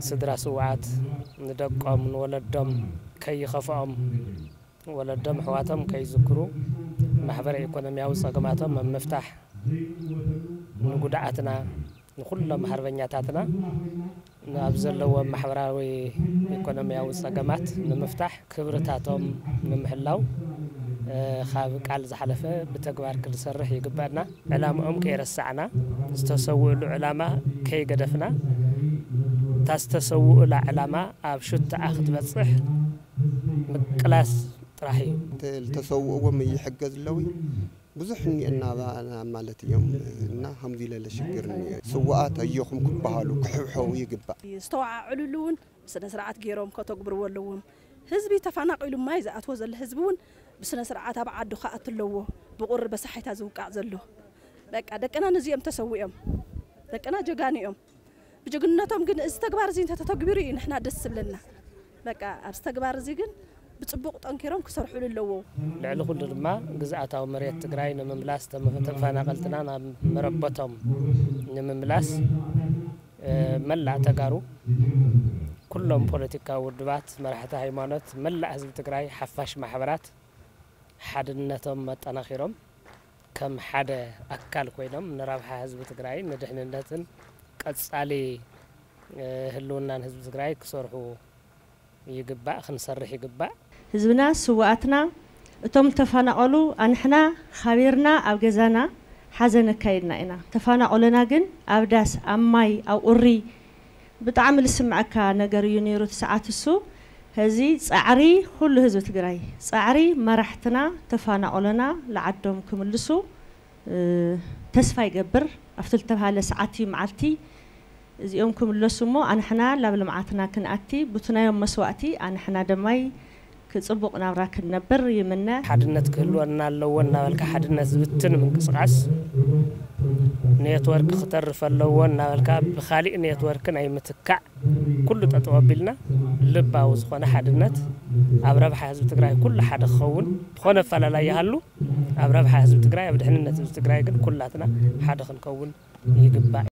ስድራ ስውኣት ንደቆም ንወለዶም ከይኸፍኦም፣ ወለዶም ኣሕዋቶም ከይዝክሩ፣ ማሕበረ ኢኮኖሚያዊ ጸገማቶም ኣብ ምፍታሕ፣ ንጉድኣትና ንኹሎም ሓርበኛታትና ኣብ ዘለዎም ማሕበራዊ ኢኮኖሚያዊ ጸገማት ንምፍታሕ፣ ክብርታቶም ንምሕላው፣ እ፣ ካብ ቃል ዝሓለፈ ብተግባር ክንሰርሕ ይግበኣና። ዕላምኦም ከይረሳዕና፣ ዝተሰውእሉ ዕላማ ከይገደፍና፣ እታ ዝተሰውኡላ ዕላማ ኣብ ሽትኣ ክትበጽሕ ምቅላስ ጥራሕ እዩ። ዝተሰውእዎም ይሕገዝ ኣለዊ ብዙሕ እኒአና ማለት እዮም። እና ከምዚ ለለ ሽግር እኒኦ። ስዋኣት ኣዮኹም ክበሃሉ ክሕብሐቡ ይግባእ። ዝተወዓዕሉሉ እውን ብስነ ስርዓት ገይሮም ከተግብርዎ ኣለዎም። ህዝቢ ተፈናቒሉ ማይ ዝኣትዎ ዘሎ ህዝቢ እውን ብስነ ስርዓት ኣብ ዓዱ ክኣቱ ኣለዎ። ብቑሪ በሳሓይታ ዝውቃዕ ዘሎ በቃ ደቅና ነዚኦም ተሰዊኦም። ደቅና ጀጋኑ እዮም። ብጅግንነቶም ግን እዚ ተግባር እዚ እንተተተግቢሩ እዩ ንሕና ደስ ዝብለና። በቃ ኣብዚ ተግባር እዚ ግን ብፅቡቕ ጠንኪሮም ክሰርሑሉ ኣለዎ። ልዕሊ ኩሉ ድማ ግዝኣታዊ መሬት ትግራይ ንምምላስ፣ ተመ-፣ ተፈናቐልትና ናብ መረበቶም ንምምላስ፣ እ፣ መላእ ተጋሩ፣ ኩሎም ፖለቲካዊ ውድባት፣ መራሕቲ ሃይማኖት፣ መላእ ህዝቢ ትግራይ፣ ሓፋሽ ማሕበራት ሓድነቶም ኣጠናኺሮም ከም ሓደ ኣካል ኮይኖም ንረብሓ ህዝቢ ትግራይ ንድሕንነትን ቀጻሊ፣ እ፣ ህልውናን ህዝቢ ትግራይ ክሰርሑ ይግባእ፣ ክንሰርሕ ይግባእ። ህዝብና፣ ስውኣትና፣ እቶም ዝተፈናቐሉ ኣንሕና፣ ኻቢርና ኣብ ገዛና ሓዘን ኣካይድና ኢና። ተፈናቐሉና ግን ኣብ ዳስ፣ ኣብ ማይ፣ ኣብ ቁሪ፣ ብጣዕሚ ልስምዐካ ነገር እዩ ነይሩ እቲ ሰዓት እሱ። ሕዚ ፃዕሪ ኩሉ ህዝቢ ትግራይ፣ ፃዕሪ መራሕትና፣ ተፈናቐሉና ልዓዶም ክምልሱ፣ እ፣ ተስፋ ይገብር። ኣብቲ ልተባሃለ ሰዓት እዩ መዓልቲ እዚኦም ክምለሱ እሞ ኣንሕና ላብ ልምዓትና ክንኣቲ፣ ቡቲ ናዮም መስዋእቲ ኣንሕና ደማይ ክፅቡቕ ናብራ ክንነብር ይምነ። ሓድነት ክህልወና ኣለዎ እናበልካ ሓድነት ዝብትን ምንቅስቃስ፣ ኔትወርክ ክተርፍ ኣለዎ እናበልካ ብኻሊእ ኔትወርክ ናይ ምትካእ ኩሉ ጠጠው ኣቢልና ልባዊ ዝኾነ ሓድነት ኣብ ረብሓ ህዝቢ ትግራይ ኩሉ ሓደ ክኸውን፣ ዝኾነ ኣፈላላይ ይሃሉ ኣብ ረብሓ ህዝቢ ትግራይ፣ ኣብ ድሕንነት ህዝቢ ትግራይ ግን ኩላትና ሓደ ክንከውን ይግባእ።